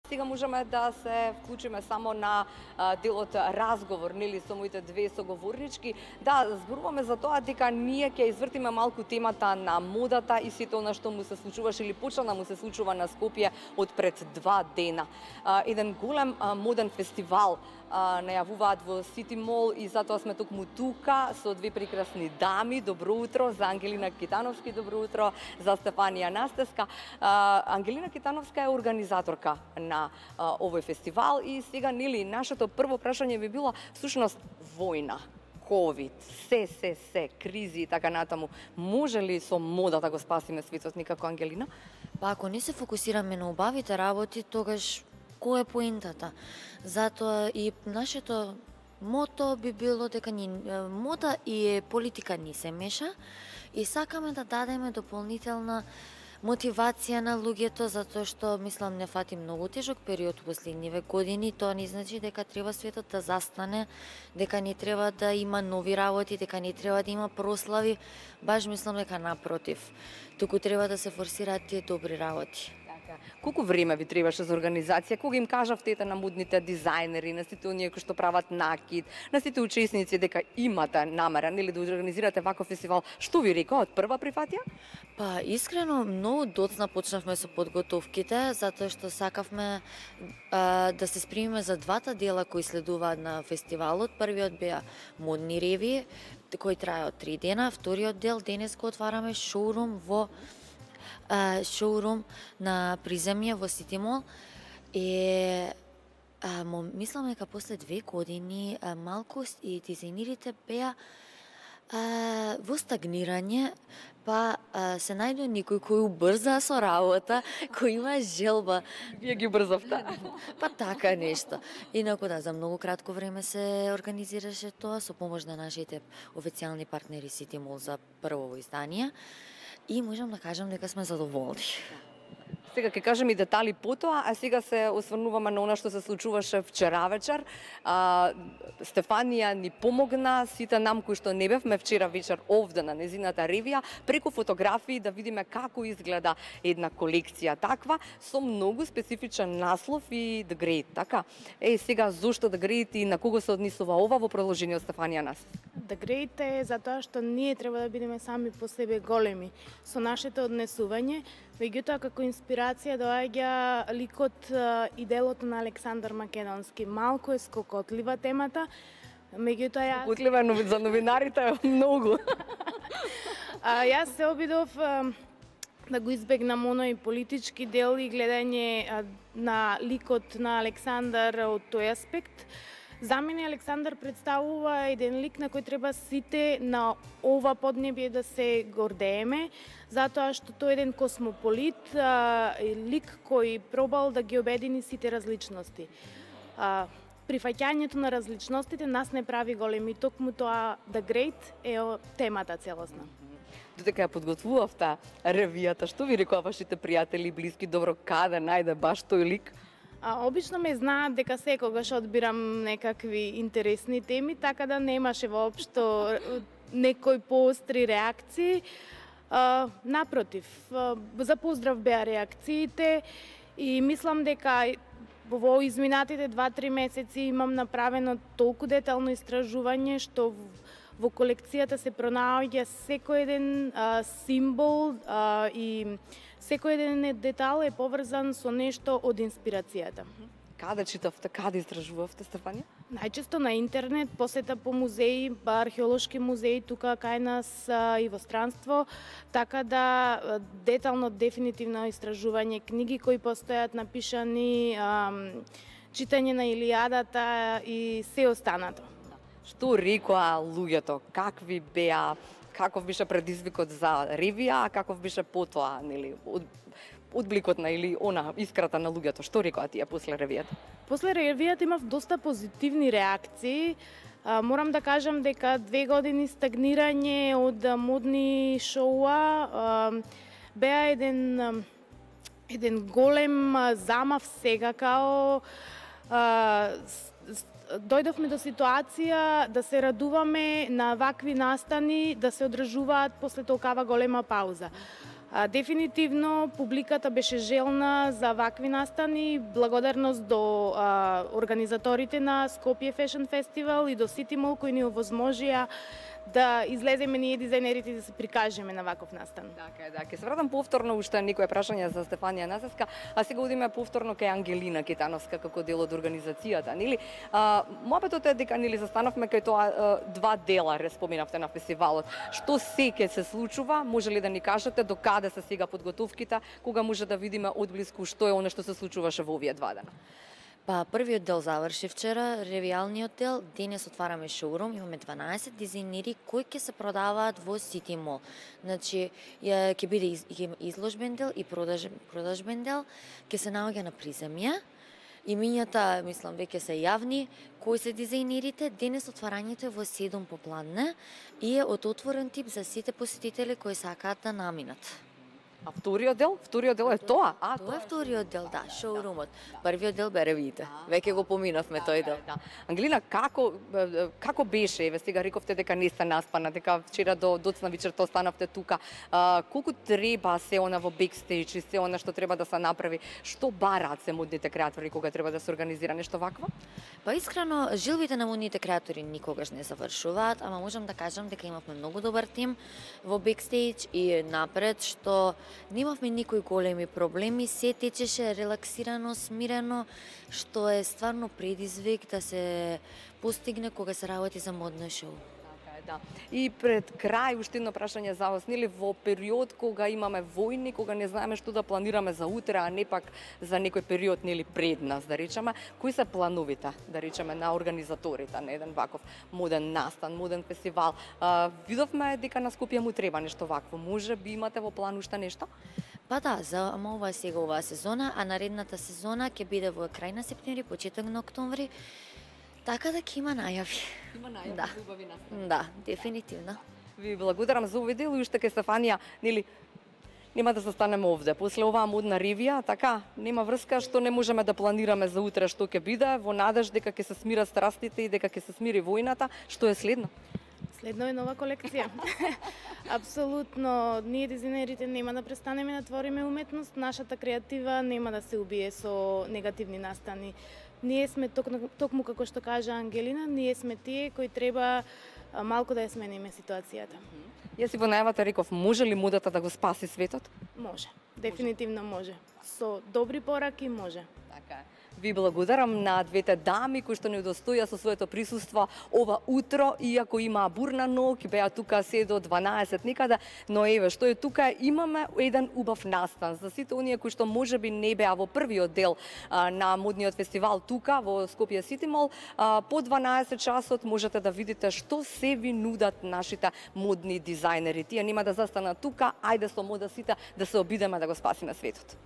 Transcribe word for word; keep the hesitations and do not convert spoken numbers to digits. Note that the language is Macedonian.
Сега можеме да се вклучиме само на а, делот разговор, нели, со моите две соговорнички. Да, зборуваме за тоа дека ние ќе извртиме малку темата на модата и сето она што му се случуваше или почна да му се случува на Скопје од пред два дена. А, еден голем а, моден фестивал а, најавуваат во Сити Мол и затоа сме токму тука со две прекрасни дами. Добро утро за Ангелина Китановски, добро утро за Стефанија Настеска. А, Ангелина Китановска е организаторка на на а, овој фестивал и сега, нели, нашето прво прашање би било всушност војна, ковид, се, се, се, кризи и така натаму. Може ли со мода да го спасиме светот никако, Ангелина? Па ако не се фокусираме на убавите работи, тогаш кој е поентата? Затоа и нашето мото би било дека ни мода и политика ни се меша и сакаме да дадеме дополнителна мотивација на луѓето, затоа што, мислам, не фати многу тежок период во последниве години. Тоа не значи дека треба светот да застане, дека не треба да има нови работи, дека не треба да има прослави. Баш мислам дека напротив. Туку треба да се форсираат тие добри работи. Колку време ви требаше за организација? Кога им кажавте на модните дизајнери, на сите оние кои што прават накид, на сите учесници дека имате намера, нели, да организирате ваков фестивал, што ви рекоа, од прва прифатија? Па, искрено, многу доцна почнавме со подготовките, затоа што сакавме а, да се спремиме за двата дела кои следуваат на фестивалот. Првиот беа модни ревии, кои трајаат три дена, вториот дел денес го отвараме шоурум во Uh, шоурум на приземје во Сити Мол и uh, мислам дека после две години uh, малку и дизајнерите беа uh, во стагнирање, па uh, се најде некој кој убрза со работа, кој има желба. Вие ги убрзавте? Па така нешто. Инаку да, за многу кратко време се организираше тоа со помош на нашите официјални партнери Сити Мол за прво издание. И можам да кажам дека сме задоволни. Сега ќе кажем и детали потоа, а сега се осврнуваме на она што се случуваше вчера вечер. А, Стефанија ни помогна, сите нам кои што не бевме вчера вечер овде на незината ревија, преку фотографии да видиме како изгледа една колекција таква, со многу специфичен наслов и The Great, така? Е, сега, зошто The Great и на кого се однесува ова во продолжение од Стефанија нас? The Great е затоа што ние треба да бидеме сами по себе големи со нашето однесување, меѓутоа како инспирација доаѓа ликот и делото на Александар Македонски. Малку е скокотлива темата, меѓутоа јас... Скокотлива е за новинарите многу. а, јас се обидов а, да го избегнам оној политички дел и гледање а, на ликот на Александар од тој аспект. За мене Александар представува еден лик на кој треба сите на ова поднебје да се гордееме, затоа што тој е еден космополит, а, лик кој пробал да ги обедини сите различности. А, прифаќањето на различностите нас не прави големи, токму тоа The Great е темата целосна. Додека ја подготвувавте ревијата, што ви рекоа вашите пријатели и блиски, добро, каде најде баш тој лик? А, обично ме знаат дека секогаш одбирам некакви интересни теми, така да немаше воопшто некои поостри реакции. А, напротив, а, за поздрав беа реакциите и мислам дека во изминатите два-три месеци имам направено толку детално истражување што во колекцијата се пронаоѓа секој еден а, символ а, и секој еден детал е поврзан со нешто од инспирацијата. Каде читавте, каде истражувавте, Стефанија? Најчесто на интернет, посета по музеи, па археолошки музеи тука кај нас а, и во странство, така да детално дефинитивно истражување, книги кои постојат напишани, а, читање на Илијадата и се останато. Што рекоа луѓето? Какви беа, каков беше предизвикот за ревија, а каков беше потоа, нели, од, одбликот на или она искрата на луѓето? Што рекоа тие после ревијата? После ревијата имав доста позитивни реакции. А, морам да кажам дека две години стагнирање од модни шоуа а, беа еден еден голем замав сега као а, дојдовме до ситуација да се радуваме на вакви настани да се одржуваат после толкава голема пауза. А, дефинитивно публиката беше желна за вакви настани, благодарност до а, организаторите на Скопје Fashion Festival и до City Mall кои ни овозможија да излеземе ние дизајнерите и да се прикажеме на ваков настан. Така е, да. Ке се вратам повторно уште некое прашање за Стефанија Назеска, а сега одиме повторно кај Ангелина Кетановска како дел од организацијата, нели? А, мојапетот е дека нели застанавме кај тоа а, два дела, споменавте на фестивалот. Што се ќе се случува? Може ли да ни кажете до каде се сега подготовките, кога може да видиме одблиску што е она што се случуваше во овие два дена? Па првиот дел заврши вчера, ревијалниот дел. Денес отвараме шоурум, имаме дванаесет дизајнери кои ќе се продаваат во City Mall. Значи, ќе биде из, изложбен дел и продажбен, продажбен дел, ќе се наоѓа на приземја. Имињата, мислам, веќе се јавни, кои се дизајнерите. Денес отварањето е во седум попладне и е од отворен тип за сите посетители кои сакаат да наминат. А вториот дел? Вториот дел е тоа? А, тоа е вториот дел, да, шоурумот. Првиот дел бе ревиите. Веќе го поминавме тој дел. Да. Ангелина, како како беше? Еве сега рековте дека не сте наспана, дека вчера до доцна вечерта останавте тука. А, колку треба се она во бекстејдж и се она што треба да се направи? Што бараат се модните креатори кога треба да се организира нешто вакво? Па искрено, жилбите на модните креатори никогаш не завршуваат, ама можам да кажам дека имавме многу добар тим во бекстејдж и напред, што немавме никои големи проблеми, се течеше релаксирано, смирено, што е стварно предизвик да се постигне кога се работи за модно шоу. Да. И пред крај уште едно прашање за вас, нели во период кога имаме војни, кога не знаеме што да планираме за утре, а не пак за некој период нели пред нас, да речеме, кои се плановите, да речеме, на организаторите на еден ваков моден настан, моден фестивал? А, видовме дека на Скопје му треба нешто вакво. Може би имате во план уште нешто? Па да, за ама ова сега оваа сезона, а наредната сезона ќе биде во крај на септември, почеток на октомври. Така да ќе има најави. Има најави, да. убави настани. Да, дефинитивно. Ви благодарам за овој дел и уште кај Стефанија, нели нема да застанеме овде. После оваа модна ревија, така, нема врска што не можеме да планираме за утре што ќе биде, во надеж дека ќе се смират страстите и дека ќе се смири војната. Што е следно? Следно е нова колекција. Апсолутно, ние дизајнерите нема да престанеме да твориме уметност, нашата креатива нема да се убие со негативни настани. Ние сме ток, токму како што кажа Ангелина, ние сме тие кои треба малку да ја смениме ситуацијата. Јас и во најавата реков, може ли модата да го спаси светот? Може, дефинитивно може. Со добри пораки може. Така е. Ви благодарам на двете дами кои што не удостоја со своето присуство ова утро, иако има бурна ноќ, беа тука се до дванаесет некаде, но еве што е тука, имаме еден убав настан за сите оние кои што можеби не беа во првиот дел а, на модниот фестивал тука во Скопје City Mall. А, по дванаесет часот можете да видите што се ви нудат нашите модни дизајнери. Тие нема да застанат тука, ајде со мода сите да се обидеме да го спасиме светот.